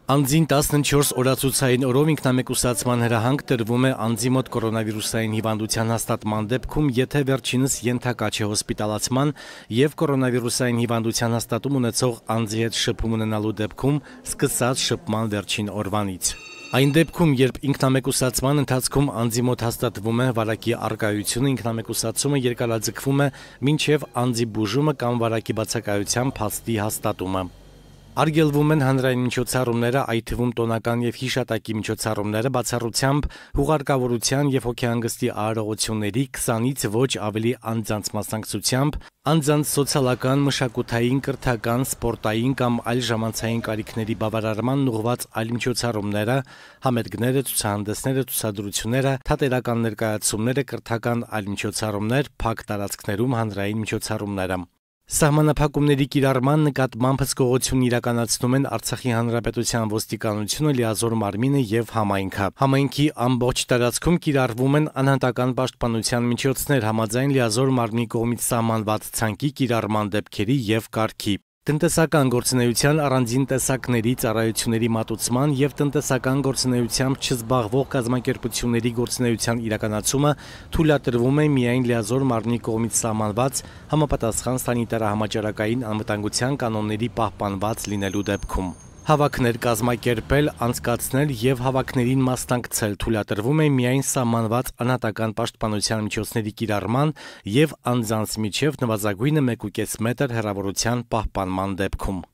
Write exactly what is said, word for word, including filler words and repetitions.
Անձին տասնչորս օրացուցային օրով ինքնամեկուսացման հրահանգ տրվում է անձի մոտ կորոնավիրուսային հիվանդության հաստատման դեպքում, եթե վերջինս ենթակա չէ հոսպիտալացման և կորոնավիրուսային հիվանդության հաստատում ունեցող անձի հետ շփում ունենալու դեպքում սկսած շփման վերջին օրվանից։ Այն դեպքում, երբ ինքնամեկուսացման ընթացքում անձի մոտ հաստատվում է վարակի առկայությունը, ինքնամեկուսացումը երկարաձգվում է մինչև անձի բուժումը կամ վարակի բացակայության փաստի հաստատումը։ Արգելվում են հանրային միջոցառումները, այդ թվում տոնական և հիշատակի միջոցառումները, բացառությամբ հուղարկավորության և հոգեհանգստի արարողությունների քսանից ոչ ավելի անձանց մասնակցությամբ, անձանց սոցիալական, մշակութային, կրթական, սպորտային կամ այլ ժամանցային կարիքների բավարարմանն ուղղված այլ միջոցառումները, համերգները, ցուցահանդեսները, ցուցադրությունները, թատերական ներկայացումները, կրթական այլ միջոցառումներ, փակ տարածքներում հանրային միջոցառումները։ Սահմանափակումների կիրառման նկատմամբ հսկողություն իրականացնում են Արցախի Հանրապետության ոստիկանությունը, լիազոր մարմինը և համայնքը։ Համայնքի ամբողջ տարածքում կիրառվում են անհատական պաշտպանության միջոցներ համաձայն լիազոր մարմնի կողմից սահմանված ցանկի կիրառման դեպքերի և կարգի։ Տնտեսական գործունեության առանձին տեսակների, ծառայությունների մատուցման և տնտեսական գործունեությամբ չզբաղվող կազմակերպությունների գործունեության իրականացումը թույլատրվում է միայն լիազոր մարմնի կողմից սահմանված համապատասխան սանիտարահամաճարակային անվտանգության կանոնների պահպանված լինելու դեպքում։ Հավաքներ կազմակերպել, անցկացնել և հավաքներին մասնակցել թույլատրվում է միայն սահմանված անհատական պաշտպանության միջոցների կիրառման և անձանց միջև նվազագույնը մեկուկես մետր հեռավորության պահպանման դեպքում։